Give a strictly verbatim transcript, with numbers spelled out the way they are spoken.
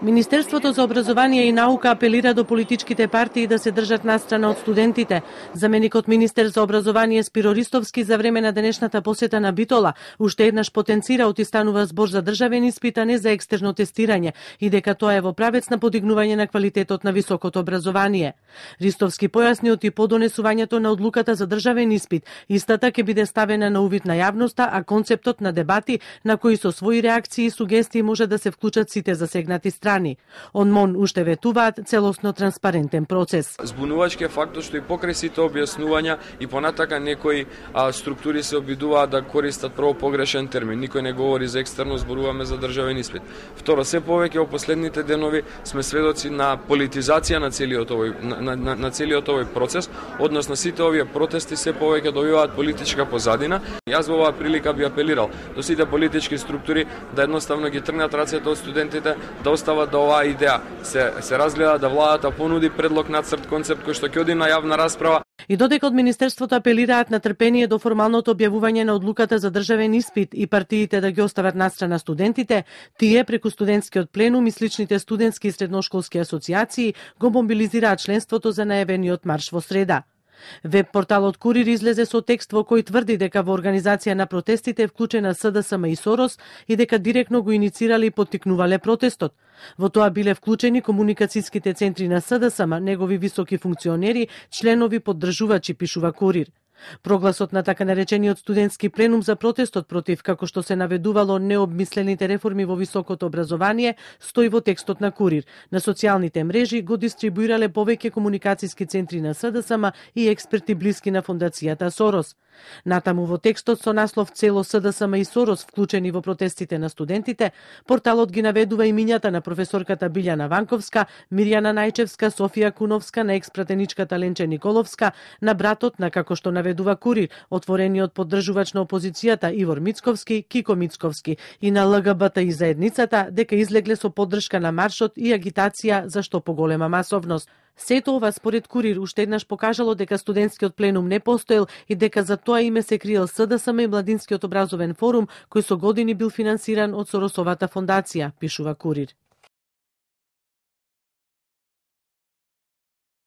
Министерството за образование и наука апелира до политичките партии да се држат настрана од студентите. Заменикот министер за образование Спиро Ристовски за време на денешната посета на Битола уште еднаш потенцира отистанува збор за државен испит, а не за екстерно тестирање, и дека тоа е во правец на подигнување на квалитетот на високото образование. Ристовски појасни оти по донесувањето на одлуката за државен испит, истата ќе биде ставена на увид на јавноста, а концептот на дебати на кои со своји реакции и сугестии може да се вклучат сите засегнати страни. Он МОН уште ветуваат целосно транспарентен процес. Збунувачки е фактот што и покрај сите објаснувања и понатака некои а, структури се обидуваат да користат прво погрешен термин. Никој не говори за екстерно, зборуваме за државен испит. Второ, се повеќе во последните денови сме сведоци на политизација на целиот овој на, на, на целиот овој процес, односно сите овие протести се повеќе добиваат политичка позадина. Јас во оваа прилика би апелирал до сите политички структури да едноставно ги тргнат рацете од студентите, да остават да оваа идеја се се разгледа, да владата понуди предлог нацрт концепт кој што ќе оди на јавна расправа. И додека од Министерството апелираат на трпение до формалното објавување на одлуката за државен испит и партиите да ги остават настрана студентите, тие преку студентскиот пленум и сличните студентски и средношколски асоциации го мобилизираат членството за најавениот марш во среда. Веб порталот Курир излезе со текст во кој тврди дека во организација на протестите е вклучена СДСМ и Сорос и дека директно го иницирале и поттикнувале протестот. Во тоа биле вклучени комуникацијските центри на СДСМ, негови високи функционери, членови, поддржувачи, пишува Курир. Прогласот на така наречениот студентски пленум за протестот против, како што се наведувало, необмислените реформи во високото образование, стои во текстот на Курир. На социјалните мрежи го дистрибуирале повеќе комуникацијски центри на СДСМ и експерти блиски на фондацијата Сорос. Натаму во текстот со наслов "Цело СДСМ и Сорос вклучени во протестите на студентите", порталот ги наведува имињата на професорката Билјана Ванковска, Мирјана Најчевска, Софија Куновска, на експратеничката Ленче Николовска, на братот на, како што наведува Курир, отворениот поддржувач на опозицијата Ивор Мицковски, Кико Мицковски, и на ЛГБТИ заедницата, дека излегле со поддршка на маршот и агитација за што поголема масовност. Сето ова според Курир уште еднаш покажало дека студентскиот пленум не постоел и дека за тоа име се криел СДСМ и Младинскиот образовен форум, кој со години бил финансиран од Соросовата фондација, пишува Курир.